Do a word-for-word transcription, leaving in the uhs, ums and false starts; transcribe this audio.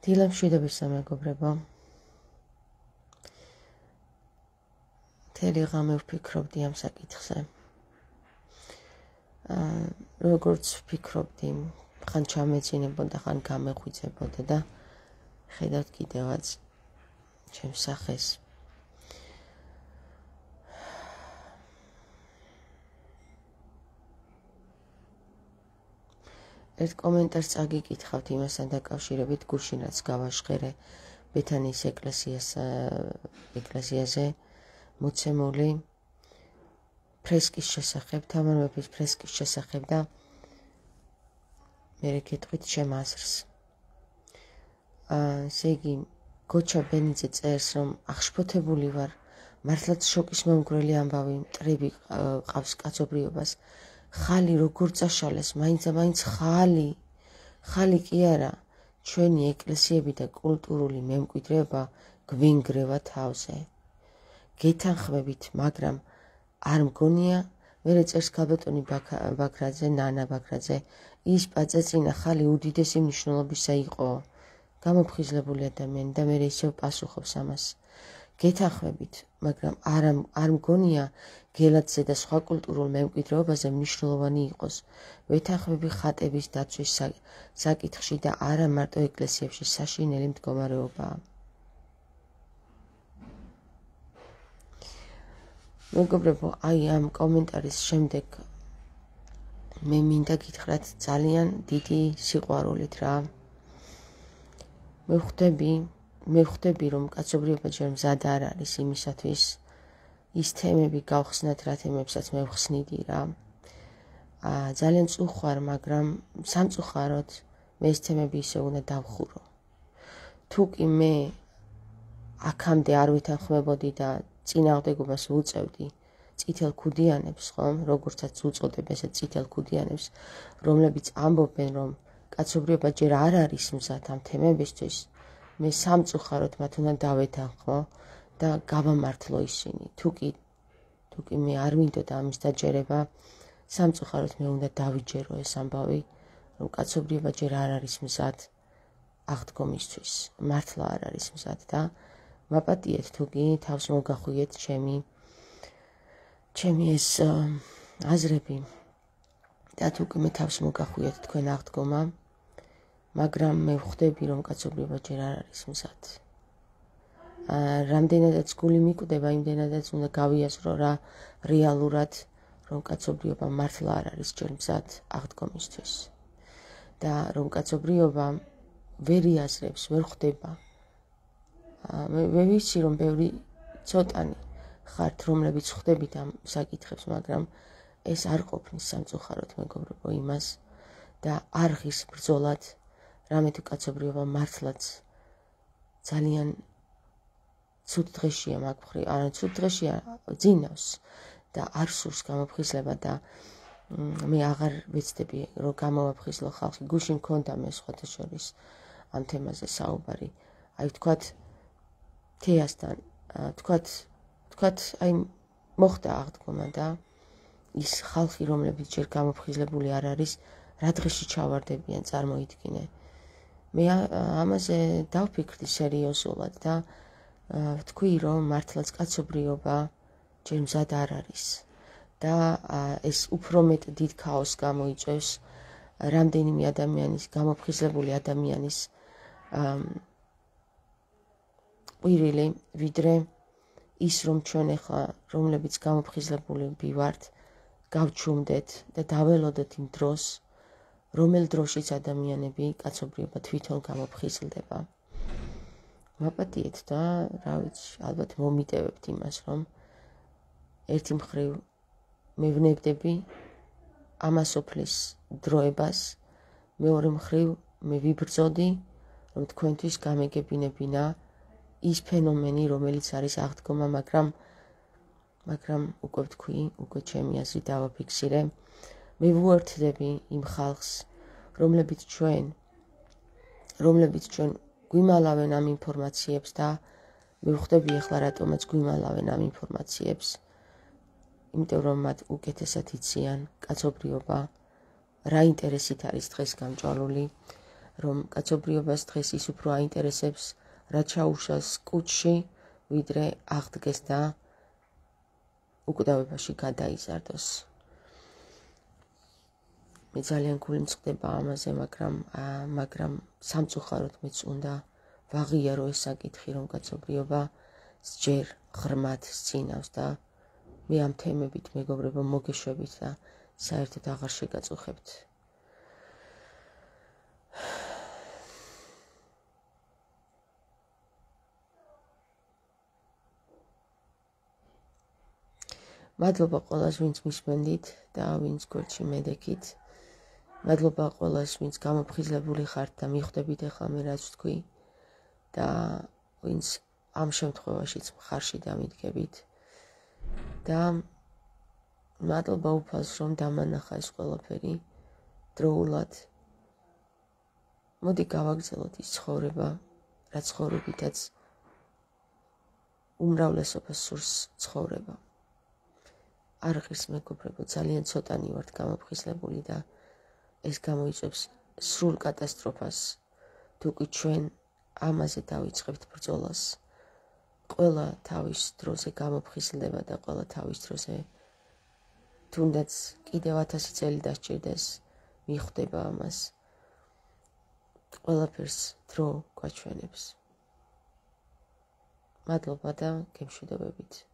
დილამშვიდობის სამეგობრებო. მთელი ღამე ვფიქრობდი ამ საკითხზე. როგორც ვფიქრობდი, ხან ჩამეძინებოდა, ხან გამეღვიძებოდა და ხედავთ კიდევაც ჩემს სახეს. ერთ კომენტარს წაგიკითხავთ იმასთან დაკავშირებით, გუშინ რაც გავაშხერე ბეთანიის ეკლესიას ეკლესიაზე მოცემული ფრესკის შესახებ, თამარ მეფის ფრესკის შესახებ და მე გეტყვით ჩემ აზრს. ესე იგი, გოჩა ბენიძე წერს, რომ აღშფოთებული ვარ, მართლაც შოკის მომგვრელი ამბავი, მტრები ყავს კაცობრიობას. ხალი როგორ წაშალეს, მაინც და მაინც ხალი, ხალი კი არა, ჩვენი ეკლესიები და კულტურული მემკვიდრეობა გვინგრევა თავზე. გეთანხმებით, მაგრამ არ მგონია, მერე წერს ქალბატონი ბაქრაძე, ნანა ბაქრაძე, ის პაწაწინა ხალი უდიდესი მნიშვნელობისა იყო, გამოფხიზლებული ადამიანი და მერე ისევ პასუხობს ამას. გეთანხმებით, მაგრამ არ არ მგონია გელათზე და სხვა კულტურულ მემკვიდრეობაზე მნიშვნელოვანი იყოს. ვეთანხმები ხატების დაცვის საკითხში და არა მარტო ეკლესიებში საშინელი მდგომარეობაა. მეგობრებო, აი ამ კომენტარის შემდეგ მე მინდა გითხრათ ძალიან დიდი სიყვარულით რა. მე ხვდები მე ხვდები რომ კაცობრიობა ჯერ მზად არ არის იმისათვის ის თემები გავხსნათ, რა თემებსაც მე ვხსნიდი რა. აა ძალიან წუხვარ, მაგრამ სამწუხაროდ მე ეს თემები ისე უნდა დავხურო. თუ კი მე აქამდე არ ვითანხმებოდი და წინააღმდეგობას ვუწევდი წითელ ქუდიანებს, ხომ, როგორცაც უწოდებ ესე წითელ ქუდიანებს, რომლებიც ამბობენ, რომ კაცობრიობა ჯერ არ არის მზად ამ თემებისთვის, მე სამწუხაროდ მათ უნდა დავეთანხმო და გავამართლო ისინი. თუ კი თუ კი მე არ მინდოდა ამის დაჯერება, სამწუხაროდ მე უნდა დავიჯერო ეს ამბავი, რომ კაცობრიობა ჯერ არ არის მზად აღდგომისთვის, მართლა არ არის მზად და მაპატიეთ თუ კი თავს მოგახვიეთ ჩემი ჩემი ეს აზრები და თუ კი მე თავს მოგახვიეთ თქვენ აღდგომა, მაგრამ მე ვხვდები, რომ კაცობრიობა ჯერ არ არის მზად. რამდენადაც გული მიკვდება, იმდენადაც უნდა გავიაზრო რა რეალურად, რომ კაცობრიობა მართლა არ არის ჯერ მზად აღდგომისთვის და რომ კაცობრიობა ვერ იაზრებს, ვერ ხვდება. მე ვიცი, რომ ბევრი ცოტანი ხართ, რომლებიც ხვდებით ამ საკითხებს, მაგრამ ეს არ ყოფნის სამწუხაროდ მეგობრებო იმას და არ ღირს ბრძოლად, რამე თუ კაცობრიობა მართლაც ძალიან ცუდ დღეშია მაგ მხრივ, არა ცუდ დღეშია, ძინავს და არ სურს გამოფხიზლება და მე აღარ ვეცდები, რომ გამოვაფხიზლო ხალხი. გუშინ მქონდა მე სხვათა შორის ამ თემაზე საუბარი. აი ვთქვათ, თეასთან, ვთქვათ, ვთქვათ, აი მოხდა აღდგომა და ის ხალხი, რომლებიც ჯერ გამოფხიზლებული არ არის, რა დღეში ჩავარდებიან, წარმოიდგინე. მე ამაზე დავფიქრდი სერიოზულად და ვთქვი, რომ მართლაც კაცობრიობა ჯერ მზად არ არის და ეს უფრო მეტ დიდ ქაოსს გამოიწვევს რამდენიმე ადამიანის, გამოფხიზლებული ადამიანის ყვირილი, ვიდრე ის, რომ ჩვენ ახლა, რომლებიც გამოფხიზლებული ვართ, გავჩუმდეთ და დაველოდეთ იმ დროს, რომელ დროშიც ადამიანები კაცობრიობა თვითონ გამოფხიზლდება. მაპატიეთ და რა ვიცი, ალბათ მომიტევებთ იმას, რომ ერთი მხრივ მე ვნებდები ამასოფლის დროებას, მეორე მხრივ მე ვიბრძოდი, რომ თქვენთვის გამეგებინებინა ის ფენომენი, რომელიც არის აღდგომა, მაგრამ მაგრამ უკვე ვთქვი, უკვე ჩემი აზრი დავაფიქსირე. მე ვუერთდები იმ ხალხს, რომლებიც ჩვენ, რომლებიც ჩვენ გვიმალავენ ამ ინფორმაციებს და მე ვხვდები ახლა რატომაც გვიმალავენ ამ ინფორმაციებს. იმიტომ რომ მათ უკეთესად იციან კაცობრიობა, რა ინტერესით არის დღეს გამჭვალული, რომ კაცობრიობას დღეს ის უფრო აინტერესებს რა ჩაუშას კუჩში, ვიდრე აღდგეს და უკვდავებაში გადაიზარდოს. მე ძალიან გული მწყდება ამაზე, მაგრამ მაგრამ სამწუხაროდ მეც უნდა ვაღიარო ეს საკითხი, რომ კაცობრიობა ჯერ ღრმად სცინავს და მე ამ თემებით მეგობრებო მოგეშვებით და საერთოდ აღარ შეგაწუხებთ. მადლობა ყველას, ვინც მისმენდით და ვინც გვერდში მედექით. მადლობა ყველას, ვინც გამოფხიზლებული ხართ და მიხვდებით ახლა მე რაც ვთქვი და ვინც ამ შემთხვევაშიც მხარში დამიდგებით. და მადლობა უფალს, რომ დამანახა ეს ყველაფერი დროულად. მოდი გავაგრძელოთ ის ცხოვრება, რა ცხოვრებითაც უმრავლესობას სურს ცხოვრება. არ ღირს მეგობრებო, ძალიან ცოტანი ვართ გამოფხიზლებული და ეს გამოიწვევს სრულ კატასტროფას. თუკი ჩვენ ამაზე დავიწყებთ ბრძოლას, ყველა თავის დროზე გამოფხიზლდება და ყველა თავის დროზე თუნდაც კიდევ ათასი წელი დასჭირდეს მიხვდება ამას. ყველაფერს დრო გვაჩვენებს. მადლობა და გემშვიდობებით.